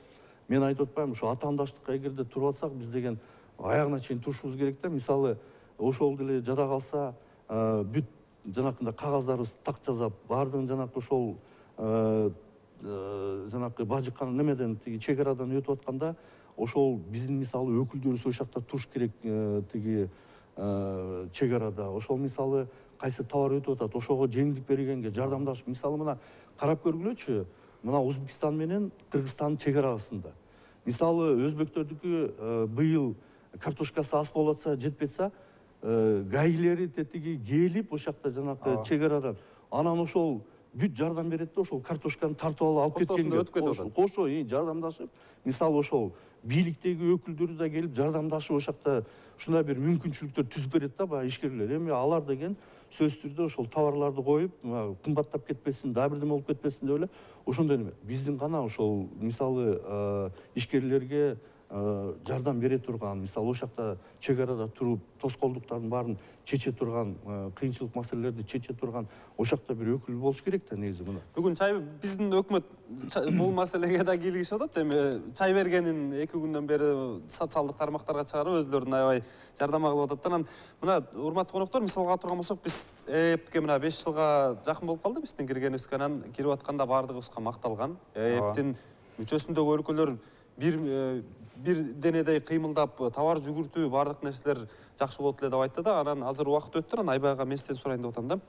мен айтып атпаймынбы, ошо атаандаштыкка эгерде туруп атсак, биз деген аягына чейин турушубуз керек да. Мисалы ошол деле жада калса бүт жанакындай кагаздарыбыз так жасап, баардыгын жанакы ошол жанакы бажыккан немеден тиги чек арадан өтүп атканда, ошол биздин мисалы өкүлдөрүбүз ошол жакта туруш керек тиги чек арада. Ошол мисалы кайсы товар өтүп атат, ошого жеңилдик бергенге жардамдашып, мисалы мына карап көргүлөчү, мына Өзбекстан менен Кыргызстандын чек арасында. Мисалы өзбектөрдүкү быйыл картошкасы аз болуп атса, жетпей атса, гаилери тетиги келип ошол жакта жанакы чек арадан анан ошол бүт жардам берет да, ошол картошканы тартып алып кеткенге кошо жардамдашып, мисалы ошол бийликтеги өкүлдөрү да келип жардамдашып ошол жакта ушундай бир мүмкүнчүлүктөр түзүп берет да баягы ишкерлер. Эми алар деген сөзсүз түрдө ошол товарларды коюп, кымбаттап кетпесин, дагы бирдеме болуп кетпесин деп эле ошондой неме. Биздин гана ошол мисалы ишкерлерге жардам бере турган, мисалы ошол жакта чек арада туруп, тоскоолдуктардын баарын чече турган, кыйынчылык маселелерди чече турган ошол жакта бир өкүл болуш керек да негизи мына. Бүгүн биздин өкмөт бул маселеге да кийлигишип атат. Эми чай бергенин 2 күндөн бери социалдык тармактарга чыгарып, өзүлөрүн аябай жардам кылып атат. Анан мына урматтуу коноктор, мисалга турган болсок, биз ЭЭПке мына 5 жылга жакын болуп калды биздин киргенибизге. Анан кирип атканда баардыгыбызга макталган. ЭЭПтин мүчөсүндөгү өлкөлөр бир денедей кыймылдап, товар жүгүртүү, баардык нерселер жакшы болот эле деп айтты да. Анан азыр убакыт өттү, анан Айбайга местен сурайын деп атам да.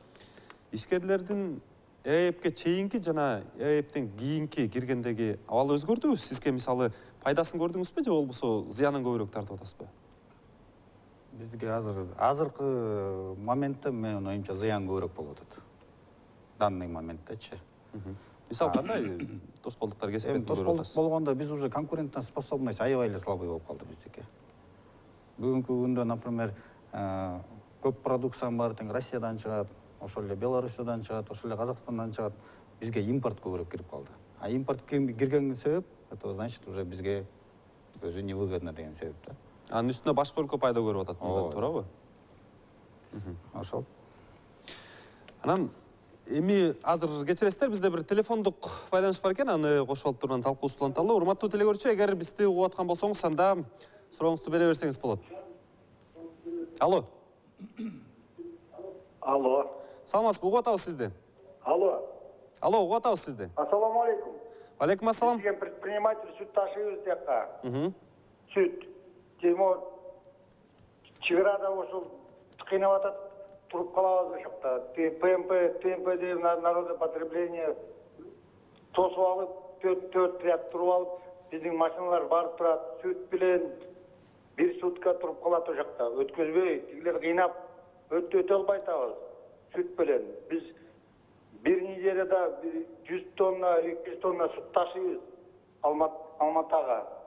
Ишкерлердин ЭЭПке чейинки жана ЭЭПтен кийинки киргендеги абал өзгөрдүбү? Сизге мисалы пайдасын көрдүңүзбү же болбосо зыянын көбүрөөк тартып атасызбы? Бизге азыркы моментте менин оюмча зыян көбүрөөк болуп атат. Данный моменттечи. Мисалы кандай тоскоолдуктар кесип кетти? Тоскоолдук болгондо биз уже конкурентно способность аябай эле слабый болуп калды биздики. Бүгүнкү күндө, например, көп продукциянын баары тең Россиядан чыгат, ошол эле Белоруссиядан чыгат, ошол эле Казакстандан чыгат. Бизге импорт көбүрөөк кирип калды. А импорт киргенге себеп, это значит уже бизге өзү невыгодно деген себеп да. Анын үстүнө башка өлкө пайда көрүп атат, туурабы? Ошол. Анан эми азыр кечиресиздер, бизде бир телефондук байланыш бар экен, аны кошуп алып туруп талкуубузду уланталы. Урматтуу телекөрүүчү, эгер бизди угуп аткан болсоңуз, анда сурооңузду бере берсеңиз болот. Алло. Алло. Саламатсызбы, угуп атабыз сизди. Алло. Алло, угуп атабыз сизди. Ассаламу алейкум. Алейкум ассалам. Биз предприниматель сүт ташыйбыз жакка. Сүт. Тимур чыгырада ошол кыйнап атат, туруп калабыз ошол жакта. ТМП деп народное потребление тосуп алып, 4 ряд туруп алып, биздин машиналар барып турат, сүт менен 1 сутка туруп калат ошол жакта. Өткөзбөй, тигилер кыйнап өтө албай атабыз сүт менен. Биз бир неделяда 100 тонна, 200 тонна сүт ташыйбыз Алматага.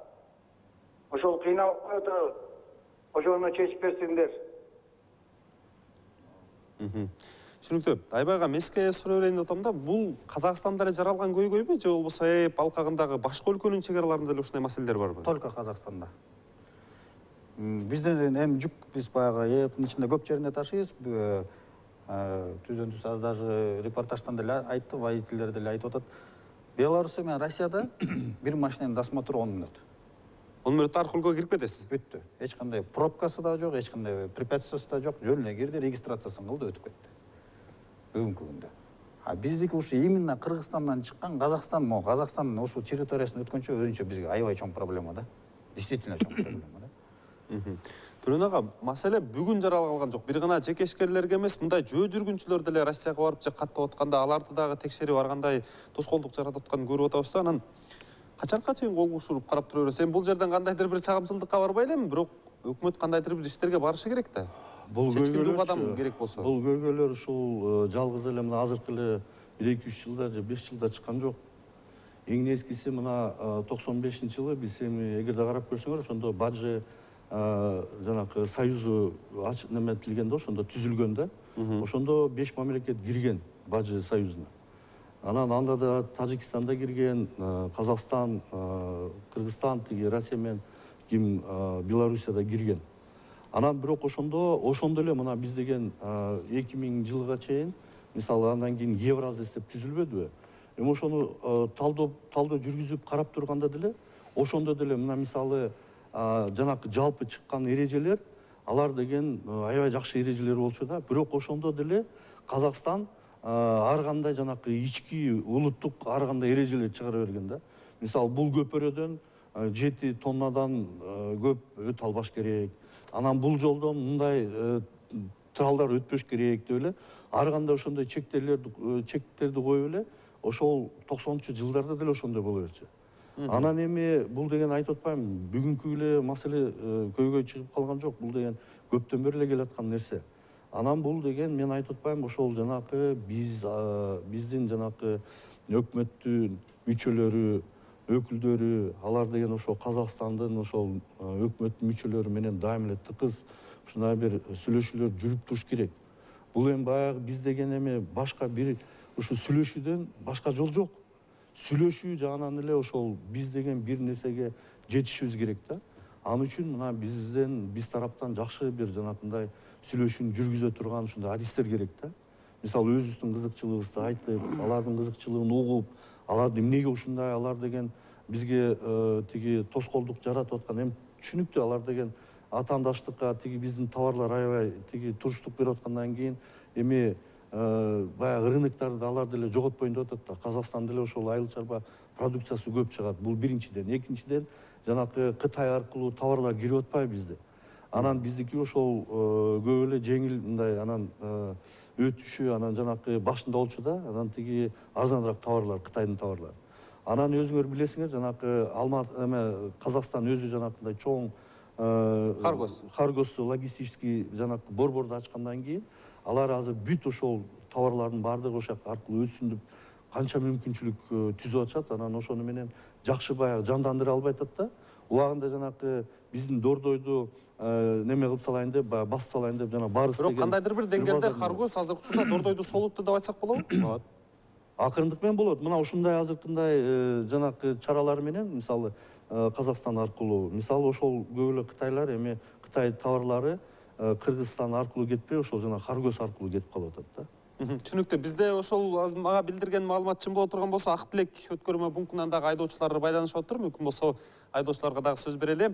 Ошол кыйнап коюп атабыз. Ошону чечип берсиңдер. Түшүнүктүү. Айбайга меске суроо берейин деп атам да. Бул Казакстанда эле жаралган көйгөйбү же болбосо ЭЭП алкагындагы башка өлкөнүн чек араларында эле ушундай маселелер барбы? Только Казакстанда. Бизден эми жүк биз баягы Европанын ичинде көп жерине ташыйбыз. Түздөн түз аз даже репортаждан деле айтты, водительдер деле айтып атат. Беларусия менен Россияда бир машинанын досмотру 10 мүнөт. 10 мүнөттө аркылуу кирип кетесиз. Бүттү. Эч кандай пробкасы да жок, эч кандай препятствиясы да жок. Жөн эле кирди, регистрациясын кылды, өтүп кетти. Бүгүнкү күндө. Биздики ушу именно Кыргызстандан чыккан, Казакстан ушул территориясын өткөнчө өзүнчө бизге аябай чоң проблема да. Действительно чоң проблема да. Төлөн ага, маселе бүгүн жаралган жок. Бир гана жекешкерлерге эмес, мындай жөө жүргүнчүлөр деле Россияга барып же каттап атканда, аларды дагы текшерип аргандай тоскоолдук жаратып атканын көрүп атабыз да. Анан качанга чейин кол кушуруп карап тура беребиз? Эми бул жерден кандайдыр бир чагымчылдыкка барбай элеми, бирок өкмөт кандайдыр бир иштерге барышы керек да. Бул көйгөйлөр кадам керек болсо. Бул көйгөйлөр ушул жалгыз эле мына азыркы эле 1-2-3 жылда же 5 жылда чыккан жок. Эң нескиси мына 95-жылы биз эми эгерде карап көрсөңөр, ошондо Баджи жанакы союзу неметилген да, ошондо түзүлгөн да. Ошондо 5 мамлекет кирген Баджи союзуна. Анан анда да Тажикстан да кирген, Казакстан, Кыргызстан, Россия менен Белоруссия да кирген. Анан бирок ошондо эле мына биз деген 2000 жылга чейин, мисалы андан кийин Евразис деп түзүлбөдүбү? Эми ошону талдоо жүргүзүп карап турганда деле, ошондо деле мына мисалы жанакы жалпы чыккан эрежелер, алар деген аябай жакшы эрежелер болчу да. Бирок ошондо деле Казакстан ар кандай жанакы ички улуттук ар кандай эрежелер чыгара берген да. Мисалы бул көпөрөдөн 7 тоннадан көп өтө албаш керек. Анан бул жолдон мындай тралдар өтпөш керек деп эле ар кандай ошондой чектерди коюп эле ошол 90-чы жылдарда деле ошондой боло берчү. Анан эми бул деген айтып атпайм, бүгүнкү эле маселе көйгөй чыгып калган жок. Бул деген көптөн бери эле келаткан нерсе. Анан бул деген мен айтып атпайм, ошол жанакы биздин жанакы өкмөттүн мүчөлөрү, өкүлдөрү, алар деген ошол Казакстандын ошол өкмөттүн мүчөлөрү менен дайым эле тыкыз ушундай бир сүйлөшүүлөр жүрүп туруш керек. Бул эми баягы биз деген эми башка бир ушу сүйлөшүүдөн башка жол жок. Сүйлөшүү жагынан эле ошол биз деген бир нерсеге жетишибиз керек да. Ал үчүн мына биз тараптан жакшы бир жанакындай сүйлөшүүнү жүргүзө турган ушундай адистер керек да. Мисалы өзүбүздүн кызыкчылыгыбызды айтып, алардын кызыкчылыгын угуп, аларды эмнеге ушундай, алар деген бизге тоскоолдук жаратып аткан, эми түшүнүктүү, алар деген атаандаштыкка биздин товарлар аябай туруштук берип аткандан кийин эми баягы рыноктарды алар деле жоготпоюн деп атат да. Казакстан деле ошол айыл чарба продукциясы көп чыгат. Бул биринчиден. Экинчиден, жанакы Кытай аркылуу товарлар кирип атпайбы бизде. Анан биздики ошол көп эле жеңил мындай анан өтүшү, анан жанакы башында болчу да, анан арзаныраак товарлар, Кытайдын товарлары. Анан өзүңөр билесиңер, жанакы Казакстан өзү жанакындай чоң каргосту логистический жанакы борборду ачкандан кийин алар азыр бүт ошол товарлардын баардыгы ошол аркылуу өтсүн деп канча мүмкүнчүлүк түзүп атышат. Анан ошону менен жакшы баягы жандандыра албай атат да. Убагында жанакы биздин Дордойду неме кылып салайын деп, басып салайын деп жана барыс деген. Бирок кандайдыр бир деңгээлде каргоз азыркы учурда Дордойду солутту деп айтсак болобу? Болот. Акырындык менен болот. Мына ушундай азыркындай жанакы чаралар менен, мисалы Казакстан аркылуу, мисалы ошол көп эле кытайлар эми Кытай товарлары Кыргызстан аркылуу кетпей, ошол жана каргоз аркылуу кетип калып атат да. Түшүнүктүү. Бизде ошол мага билдирген маалымат чын боло турган болсо, Ак Тилек өткөрмө пунктунан дагы айдоочулар байланышып атыр. Мүмкүн болсо айдоочуларга дагы сөз берели.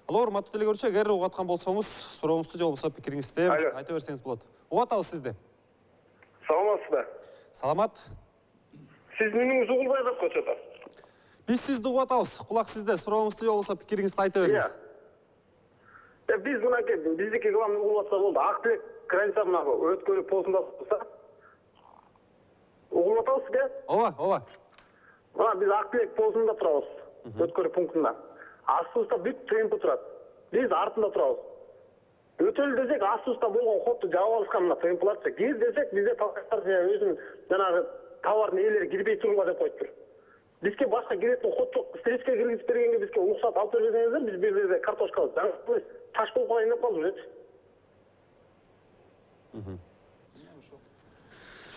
Алло, урматтуу телегөрүүчү, эгер угуп аткан болсоңуз, сурооңузду же болбосо пикириңизди айта берсеңиз болот. Угуп атабыз сизди. Саламатсызбы? Саламат. Сиздин үнүңүз угулбай калып көчөдө. Биз сизди угуп атабыз. Кулак сизде. Сурооңузду же болбосо пикириңизди айта бериңиз. Биз мынакей, биздики главный угулуп атса болду. Ак Тилек граница мына өткөрүү постунда турса. Угулуп атабыз сизге? Ооба. Мына биз Ак Тилек постунда турабыз. Өткөрүү пунктунда. Астыбызда бүт темпи турат. Биз артында турабыз. Өтөлү десек, астыбызда болгон ходду жаап алышкан мына темпларчы. Кир десек, бизде талкаттар өзүнүн жанагы товардын ээлери кирбей туруңар деп коюптур. Бизге башка киретин ход жок. Стричке киргизип бергенге бизге уруксат алып берсеңиздер, биз бир жерде картошка таш болуп калайын деп калдык өзү.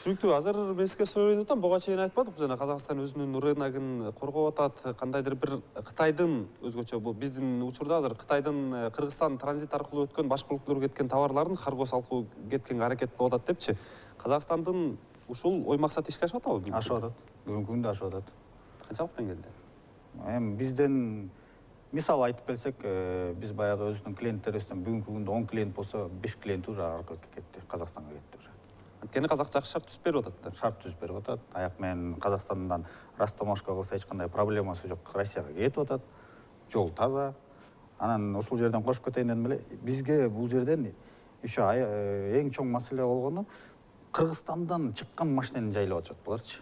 Түшүнүктүү. Азыр мен сизге сурап атам, буга чейин айтпадык, жана Казакстан өзүнүн рыногун коргоп атат. Кандайдыр бир Кытайдын өзгөчө бул биздин учурда азыр Кытайдын Кыргызстан транзит аркылуу өткөн, башка өлкөлөргө кеткен товарларын каргос алкуу кеткенге аракет кылып атат депчи. Казакстандын ушул ой максаты ишке ашып атабы? Ашып атат. Бүгүнкү күндө ашып атат. Канчалык деңгээлде? Эми бизден мисал айтып келсек, биз баягы өзүбүздүн клиенттерибизден бүгүнкү күндө 10 клиент болсо, 5 клиент уже аркы кетти, Казакстанга кетти уже. Анткени Казак жакшы шарт түзүп берип атат да. Шарт түзүп берип атат. Аяк менен Казакстандан растаможка кылса эч кандай проблемасы жок, Россияга кетип атат. Жол таза. Анан ушул жерден кошуп кетейин дедим эле. Бизге бул жерден еще эң чоң маселе болгону Кыргызстандан чыккан машинени жайлап атышат буларчы.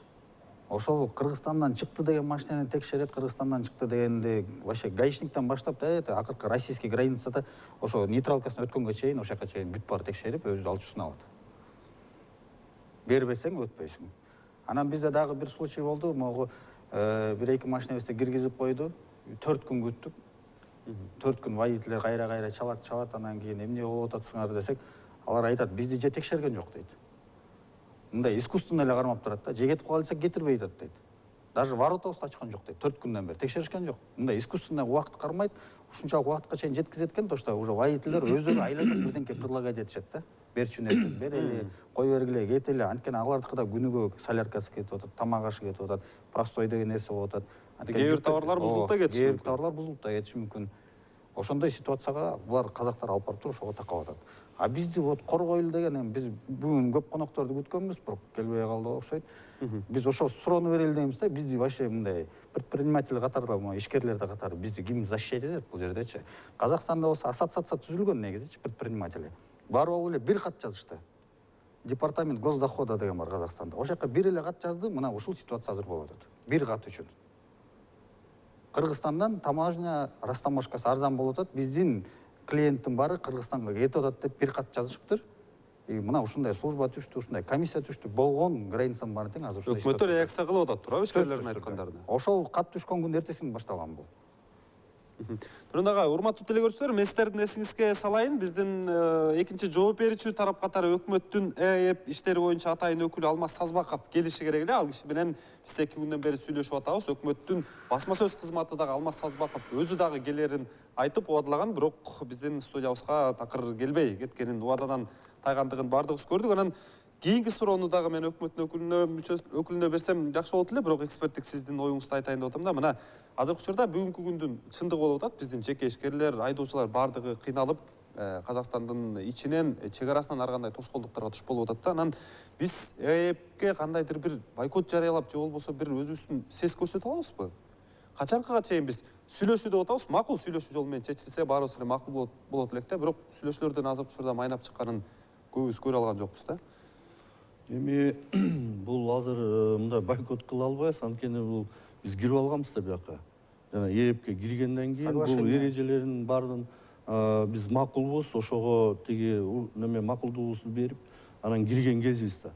Ошол Кыргызстандан чыкты деген машинени текшерет, Кыргызстандан чыкты дегенди вообще гаишниктен баштап акыркы российский границада ошо нейтралкасын өткөнгө чейин, ошол жака чейин бүт баары текшерип, өзү алчуусун алат. Бербесең өтпөйсүң. Анан бизде дагы бир случай болду. Могу бир-эки машинебизди киргизип койду. 4 күн күттүк. 4 күн водительдер кайра чалат, анан кийин эмне болуп атасыңар десек, алар айтат, бизди же текшерген жок дейт. Мындай искусственно эле кармап турат да, же кетип кала десек кетирбей атат дейт. Даже воротабызды ачкан жок дейт. 4 күндөн бери текшеришкен жок. Мындай искусственно убакыт кармайт, ушунчалык убакытка чейин жеткизет экен, то что уже водительдер өздөрү айланып бирденке предлагать этишет да. Берчү нерсе берели, кой бергиле, кетели. Анткени алардыкыда күнүгө соляркасы кетип атат, тамак ашы кетип атат, простой деген нерсе болуп атат. Кээ бир товарлар бузулуп да кетиши мүмкүн. Кээ бир товарлар бузулуп да кетиши мүмкүн. Ошондой ситуацияга булар казактар алып барып туруп ошого такап атат. А бизди вот коргойлу деген, биз бүгүн көп конокторду күткөнбүз, бирок келбей калды окшойт. Биз ошо суроону берели дейбиз да, бизди вообще мындай предприниматель катарда, ишкерлерде катары бизди ким защищать этет бул жердечи? Казакстанда болсо ассоциация түзүлгөн негизичи предприниматели. Барып алып эле бир кат жазышты. Департамент госдохода деген бар Казакстанда. Ошол жака бир эле кат жазды, мына ушул ситуация азыр болуп атат. Бир кат үчүн. Кыргызстандан таможня растаможкасы арзан болуп атат, биздин клиенттин баары Кыргызстанга кетип атат деп бир кат жазышыптыр. Мына ушундай служба түштү, ушундай комиссия түштү, болгон границанын баарын тең азыр ушундай. Өкмөттөр реакция кылып атат туурабы ишкерлердин айткандарына? Ошол кат түшкөн күн эртесинен башталган бул. Тургун ага, урматтуу телекөрүүчүлөр, мен сиздердин эсиңизге салайын. Биздин экинчи жооп берүүчү тарап катары өкмөттүн ЭЭП иштери боюнча атайын өкүлү Алмаз Сазбаков келиши керек эле. Ал киши менен биз 2 күндөн бери сүйлөшүп атабыз. Өкмөттүн басма сөз кызматы дагы Алмаз Сазбаков өзү дагы келерин айтып убадылаган, бирок биздин студиябызга такыр келбей кеткенин, убададан тайгандыгын бардыгыбыз көрдүк. Анан кийинки суроону дагы мен өкмөттүн өкүлүнө берсем жакшы болот эле, бирок эксперттик сиздин оюңузду айтайын деп атам да. Мына азыркы учурда бүгүнкү күндүн чындыгы болуп атат. Биздин жеке ишкерлер, айдоочулар бардыгы кыйналып, Казакстандын ичинен, чек арасынан ар кандай тоскоолдуктарга туш болуп атат да. Анан биз ЭЭПке кандайдыр бир бойкот жарыялап, же болбосо бир өзүбүздүн сес көрсөтө алабызбы? Качанкыга чейин биз сүйлөшүү деп атабыз, макул сүйлөшүү жолу менен чечилсе баарыбыз эле макул болот элек да, бирок сүйлөшүүлөрдөн азыркы учурда майнап чыкканын көбүбүз көрө алган жокпуз да. Эми бул азыр мындай бойкот кыла албайбыз, анткени бул биз кирип алганбыз да бияка. Жана ЭЭПке киргенден кийин бул эрежелердин баарын биз макулбуз, ошого тиги неме макулдугубузду берип, анан кирген кезибиз да.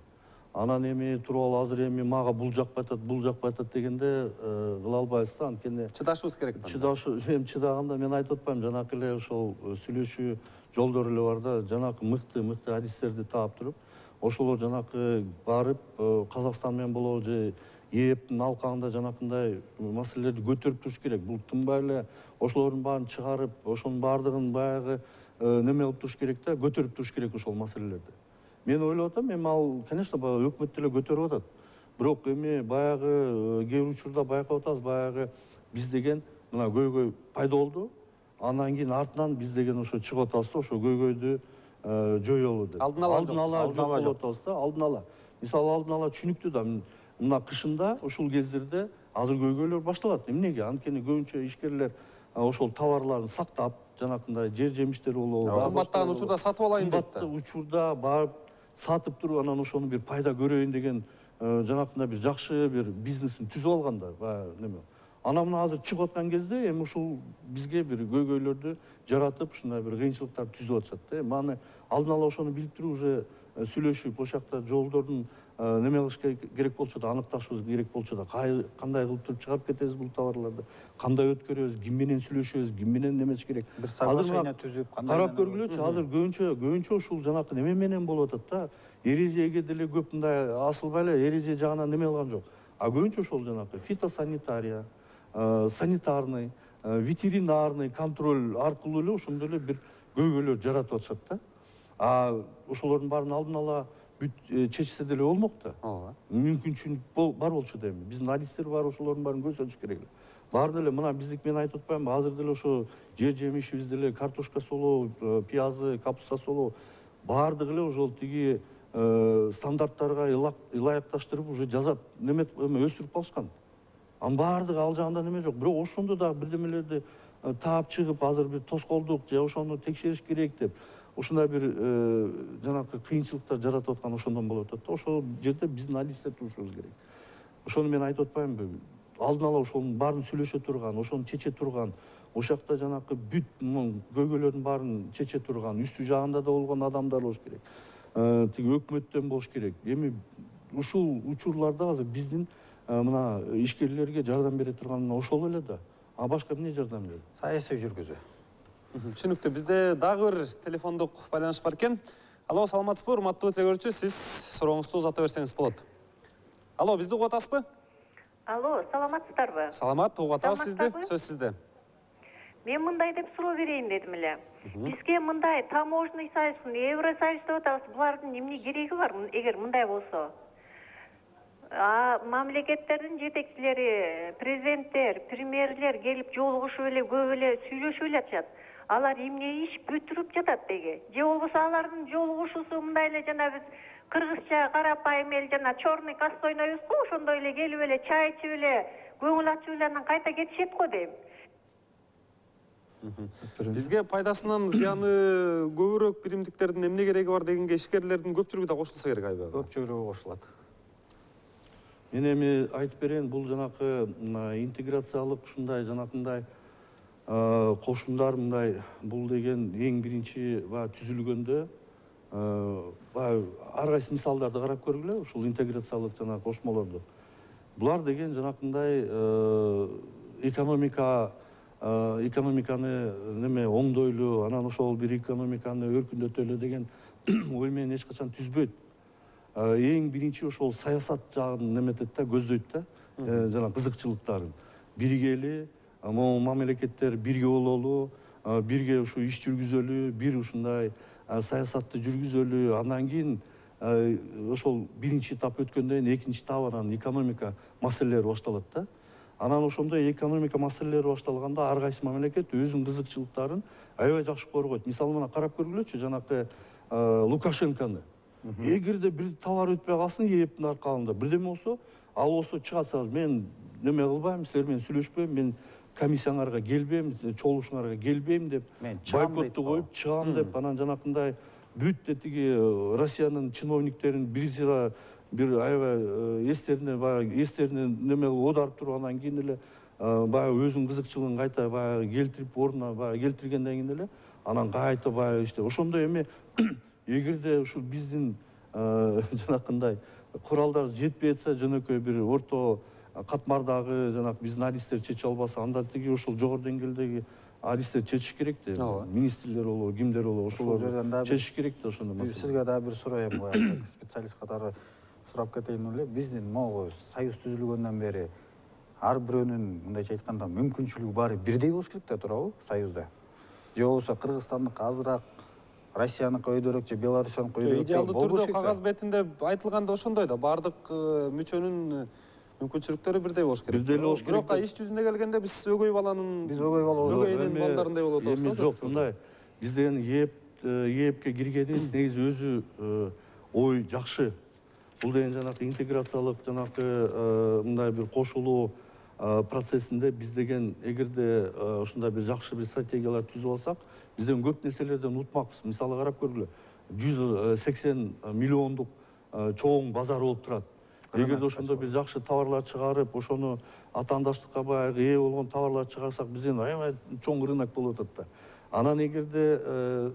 Анан эми туруп алып азыр эми мага бул жакпай атат дегенде кыла албайбыз да, анткени чыдашыбыз керек. Эми чыдаганда мен айтып атпайм, жанакы эле ошол сүйлөшүү жолдору эле бар да, жанакы мыкты адистерди таап туруп, ошолор жанакы барып Казакстан менен болобу же ЭЭПтин алкагында жанакындай маселелерди көтөрүп туруш керек. Бул тынбай эле ошолордун баарын чыгарып, ошонун баардыгын баягы неме кылып туруш керек да, көтөрүп туруш керек ошол маселелерди. Мен ойлоп атам, эми ал, конечно, өкмөт деле көтөрүп атат. Бирок эми баягы кээ бир учурда байкап атабыз, баягы биз деген мына көйгөй пайда болду. Андан кийин артынан биз деген ошо чыгып атабыз да, ошо көйгөйдү жоёлу деп. Алдын ала жок болуп атабыз да, алдын ала. Мисалы алдын ала түшүнүктүү да, мына кышында ушул кездерде азыр көйгөйлөр башталат. Эмнеге? Анткени көбүнчө ишкерлер ошол товарларын сактап, жанакындай жер жемиштер болобу, кымбаттаган учурда сатып алайын дейт да. Кымбаттуу учурда барып сатып туруп, анан ошону бир пайда көрөйүн деген жанакындай бир жакшы бир бизнесин түзүп алган да, баягы неме. Анан мына азыр чыгып аткан кезде эми ушул бизге бир көйгөйлөрдү жаратып, ушундай бир кыйынчылыктар түзүп атышат да. Маны алдын ала ошону билип туруп уже сүйлөшүп, ошол жакта жолдордун неме кылыш керек болчу да, аныкташыбыз керек болчу да. Кандай кылып туруп чыгарып кетебиз бул товарларды, кандай өткөрөбүз, ким менен сүйлөшөбүз, ким менен немеш керек. Бир соглашение түзүп, карап көргүлөчү, азыр көбүнчө ушул жанакы неме менен болуп атат да. Эрежеге деле көп мындай асылбай эле эреже жагынан неме кылган жок. А көбүнчө ошол жанакы фитосанитария, санитарный, ветеринарный контроль аркылуу эле ошондой эле бир көйгөйлөр жаратып атышат да. А ошолордун баарын алдын ала чечсе деле болмок да. Ооба. Мүмкүнчүлүк бар болчу дейм. Биздин адистер бар, ошолордун баарын көрсөтүш керек эле. Баары деле мына биздик мен айтып атпаймынбы, азыр деле ошо жер жемишибиз деле картошка солоо, пиязы, капуста солоо баардыгы эле ошол тиги стандарттарга ылайыкташтырып уже жасап өстүрүп калышкан. Анын баардыгы ал жагында неме жок. Бирок ошондо дагы бирдемелерди таап чыгып, азыр бир тоскоолдук же ошону текшериш керек деп ушундай бир жанакы кыйынчылыктар жаратып аткан ошондон болуп атат да. Ошол жерде биздин адистер турушубуз керек. Ошону мен айтып атпаймынбы? Алдын ала ошонун баарын сүйлөшө турган, ошону чече турган, ошол жакта жанакы бүт көйгөйлөрдүн баарын чече турган, үстү жагында да болгон адамдар болуш керек. Тиги өкмөттөн болуш керек. Эми ушул учурларда азыр биздин мына ишкерлерге жардам бере турган ошол эле да. А башка эмне жардам берет? Саясий жүргүзүү. Түшүнүктүү. Бизде дагы бир телефондук байланыш бар экен. Алло, саламатсызбы, урматтуу телекөрүүчү? Сиз сурооңузду узата берсеңиз болот. Алло, бизди угуп атасызбы? Алло, саламатсыздарбы? Саламат, угуп атабыз сизди. Сөз сизде. Мен мындай деп суроо берейин дедим эле. Бизге мындай таможенный союз, Евросоюз деп атабыз. Булардын эмне кереги бар, эгер мындай болсо? Мамлекеттердин жетекчилери, президенттер, премьерлер келип жолугушуп эле көп эле сүйлөшүп эле атышат. Алар эмне иш бүтүрүп жатат деги? Же болбосо алардын жолугушуусу мындай эле жана биз кыргызча карапайым эл жана черный костой ойнойбуз го, ошондой эле келип эле чай ичип эле, көңүл ачып эле анан кайта кетишет го дейм. Бизге пайдасынан зыяны көбүрөөк биримдиктердин эмне кереги бар дегенге ишкерлердин көпчүлүгү да кошулса керек айбай. Көпчүлүгү кошулат. Мен эми айтып берейин, бул жанакы интеграциялык ушундай жанакындай кошундар мындай бул деген эң биринчи түзүлгөндө ар кайсы мисалдарды карап көргүлө, ушул интеграциялык жана кошмолорду. Булар деген жанакындай экономиканы неме оңдойлу, анан ошол бир экономиканы өркүндөтөлү деген ой менен эч качан түзбөйт. Эң биринчи ошол саясат жагын неметет да, көздөйт да, жана кызыкчылыктарын. Биргели, могу мамлекеттер бирге бололу, бирге ушу иш жүргүзөлү, бир ушундай саясатты жүргүзөлү, андан кийин ошол биринчи этап өткөндөн кийин экинчи этап анан экономика маселелери башталат да. Анан ошондой экономика маселелери башталганда ар кайсы мамлекет өзүнүн кызыкчылыктарын аябай жакшы коргойт. Мисалы мына карап көргүлөчү, жанакы Лукашенкону. Эгерде бир товар өтпөй калсын ээптин аркалында, бирдеме болсо, ал болсо чыгат, мен неме кылбайм, силер менен сүйлөшпөйм, мен комиссияңарга келбейм, чогулушуңарга келбейм деп, бойкотту коюп чыгам деп, анан жанакындай бүт тиги Россиянын чиновниктерин бир аябай эстерине неме оодарып туруп, анан кийин эле баягы өзүнүн кызыкчылыгын кайта баягы келтирип, ордуна баягы келтиргенден кийин эле анан кайта баягы иште ошондой эми эгерде ушул биздин жанакындай куралдар жетпей атса, жөнөкөй бир орто катмардагы жанакы биздин адистер чече албаса, анда тиги ушул жогору деңгээлдеги адистер чечиш керек да. Министрлер болобу, кимдер болобу, ошолор чечиш керек да ошондой маселе. Сизге дагы бир сурооем коет, специалист катары сурап кетейин эле. Биздин могу союз түзүлгөндөн бери ар бирөөнүн мындайча айтканда мүмкүнчүлүгү баары бирдей болуш керек да, туурабы, союзда? Же болбосо Кыргызстандыкы азыраак, Россияныкы өйдөрөөк же Беларусияныкы өйдөрөөк идеалдуу түрдө кагаз бетинде айтылганда ошондой да, баардык мүчөнүн мүмкүнчүлүктөрү бирдей болуш керек. Бирдей болуш керек. Бирок иш жүзүнө келгенде биз өгөй баланын өгөйнүн балдарындай болуп атабыз. Эми жок, мындай биз деген ээпке киргенибиз негизи өзү ой жакшы. Бул деген жанакы интеграциялык жанакы мындай бир кошулуу процессинде биз деген эгерде ушундай бир жакшы бир стратегиялар түзүп алсак, биз деген көп нерселерден утмакпыз. Мисалы карап көргүлө, 180 миллиондук чоң базар болуп турат. Эгерде ошондо бир жакшы товарлар чыгарып, ошону атаандаштыкка баягы ээ болгон товарлар чыгарсак, бизден аябай чоң рынок болуп атат да. Анан эгерде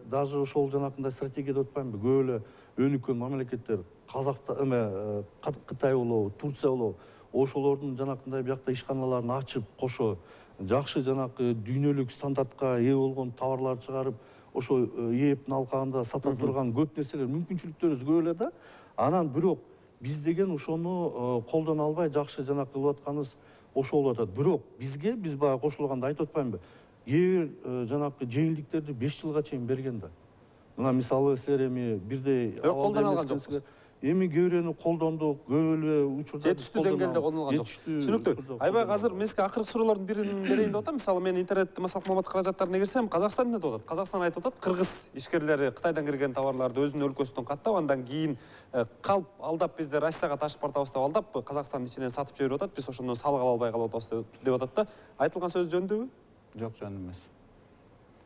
даже ошол жанакындай стратегия деп атпаймынбы, көп эле өнүккөн мамлекеттер Кытай болобу, Турция болобу, ошолордун жанакындай биякта ишканаларын ачып, кошо жакшы жанакы дүйнөлүк стандартка ээ болгон товарларды чыгарып, ошо ээптин алкагында сата турган көп нерселер, мүмкүнчүлүктөрүбүз көп эле да. Анан бирок биз деген ошону колдоно албай жакшы жанакы кылып атканыбыз ошол болуп атат. Бирок биз баягы кошулганда айтып атпаймынбы? Кээ бир жанакы жеңилдиктерди 5 жылга чейин берген да. Мына мисалы силер эми бирдей колдоно алган жоксуз. Эми кээ бирөөнү колдондук, көп эле учурда жетиштүү деңгээлде колдоно алган жок. Түшүнүктүү. Айбай азыр мен сизге акыркы суроолордун бирин берейин деп атам. Мисалы мен интернетте массалык маалымат каражаттарына кирсем, Казакстан эмне деп атат? Казакстан айтып атат, кыргыз ишкерлери Кытайдан кирген товарларды өзүнүн өлкөсүнөн каттап, андан кийин калп алдап бизди Россияга ташып бартабыз деп алдап, Казакстандын ичинен сатып жиберип атат. Биз ошондон салык ала албай калып атабыз деп атат да. Айтылган сөз жөндүүбү? Жок, жөн эмес.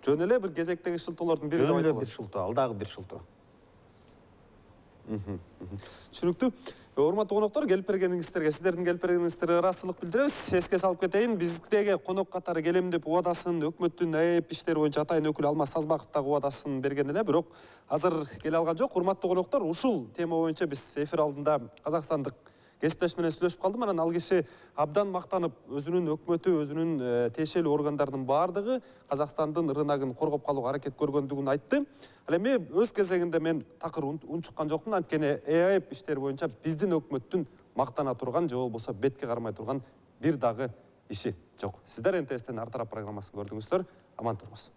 Жөн эле бир кезектеги шылтоолордун бири деп айтылат. Бир шылтоо, алдагы бир шылтоо. Түшүнүктүү. Урматтуу коноктор, келип бергениңиздерге, сиздердин келип бергениңиздерге ыраазычылык билдиребиз. Эске салып кетейин, биздеги конок катары келем деп убадасын өкмөттүн АЭП иштери боюнча атайын өкүлү Алмаз Сазбаков дагы убадасын берген эле, бирок азыр келе алган жок. Урматтуу коноктор, ушул тема боюнча биз эфир алдында казакстандык кесиптеш менен сүйлөшүп калдым. Анан ал киши абдан мактанып, өзүнүн өкмөтү, өзүнүн тиешелүү органдарынын баардыгы Казакстандын рыногун коргоп калууга аракет көргөндүгүн айтты. Ал эми өз кезегинде мен такыр унчуккан жокмун, анткени АЭП иштери боюнча биздин өкмөттүн мактана турган же болбосо бетке кармай турган бир дагы иши жок. Сиздер НТСтен ар тарап программасын көрдүңүздөр. Аман туруңуз.